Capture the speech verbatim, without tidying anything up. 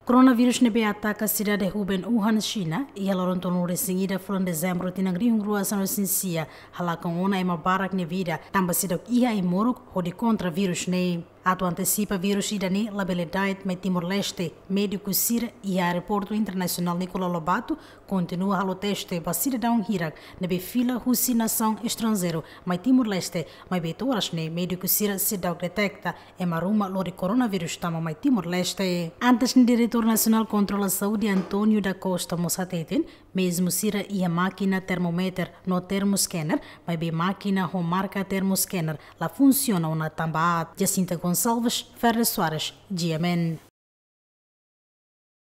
Coronavirus ne'ebé ataka sidade Hubei, Wuhan, Xina, iha loron tolunulu-resin-ida fulan Dezembru tinan rihun rua sanulu-resin-sia, halakon ona ema barak nia vida, tanba seidauk iha ai-moruk hodi kontra virus ne'e. Atu antesipa virus ida-ne'e labele da'et mai Timor-Leste, médiku sira iha Aeroportu Internasionál Nicolau Lobato kontinua halo teste ba sidadaun hirak ne'ebé fila husi nasaun estranjeiru mai Timor-Leste, maibé to'o oras ne'e médiku sira seidauk deteta ema ruma lori koronavírus tama mai Timor-Leste. Antes ne'e, Diretór Nasionál Kontrola Saúde, António da Costa, mós hateten, mezmu sira iha mákina termometer no termoscanner, maibé mákina ho marka termoscanner la funsiona ona tanba aat. Jacinta Gonçalves, Ferre Soares, G M N.